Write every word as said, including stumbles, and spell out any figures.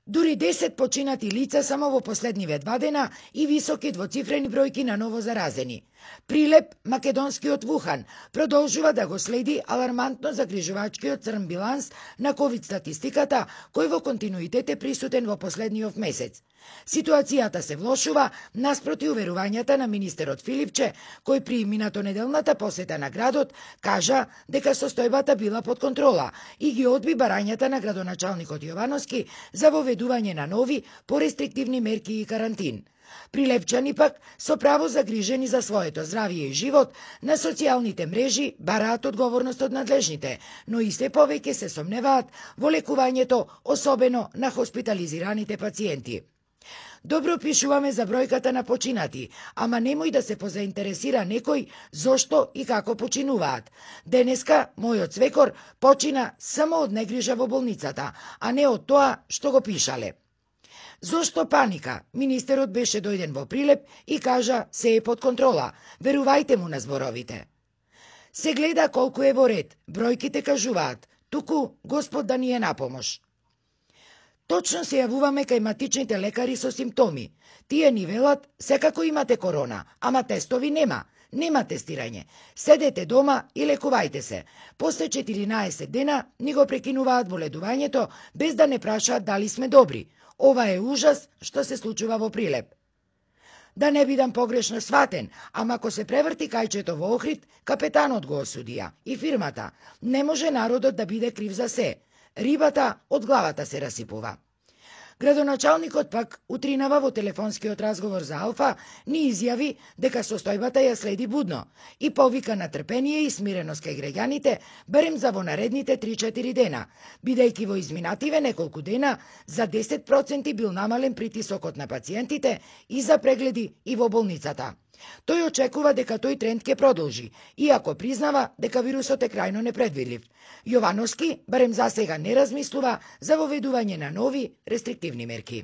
Дури десет починати лица само во последниве два дена и високи двоцифрени бројки на ново заразени. Прилеп, македонскиот Вухан, продолжува да го следи алармантно загрижувачкиот црн биланс на ковид статистиката, кој во континуитет е присутен во последниот месец. Ситуацијата се влошува наспроти уверувањата на министерот Филипче, кој при минатонеделната посета на градот кажа дека состојбата била под контрола и ги одби барањата на градоначалникот Јовановски за воведување на нови, порестриктивни мерки и карантин. Прилепчани пак, со право загрижени за своето здравје и живот, на социјалните мрежи бараат одговорност од надлежните, но и се повеќе се сомневаат во лекувањето, особено на хоспитализираните пациенти. Добро пишуваме за бројката на починати, ама немој да се позаинтересира некој зошто и како починуваат. Денеска мојот свекор почина само од негрижа во болницата, а не од тоа што го пишале. Зошто паника? Министерот беше дојден во Прилеп и кажа се е под контрола. Верувајте му на зборовите. Се гледа колку е во ред. Бројките кажуваат, туку Господ да ни е на помош. Точно се јавуваме кај матичните лекари со симптоми. Тие ни велат, секако имате корона, ама тестови нема. Нема тестирање. Седете дома и лекувајте се. После четиринаесет дена ни го прекинуваат боледувањето без да не прашаат дали сме добри. Ова е ужас што се случува во Прилеп. Да не бидам погрешно сватен, ама ако се преврти кајчето во Охрид, капетанот го осудија и фирмата. Не може народот да биде крив за се. Рибата од главата се расипува. Градоначалникот пак утринава во телефонскиот разговор за Алфа ни изјави дека состојбата ја следи будно и повика на трпение и смиреност кај граѓаните барем за во наредните три-четири дена, бидејќи во изминативе неколку дена за десет проценти бил намален притисокот на пациентите и за прегледи и во болницата. Тој очекува дека тој тренд ќе продолжи, иако признава дека вирусот е крајно непредвидлив. Јовановски барем засега не размислува за воведување на нови рестриктивни мерки.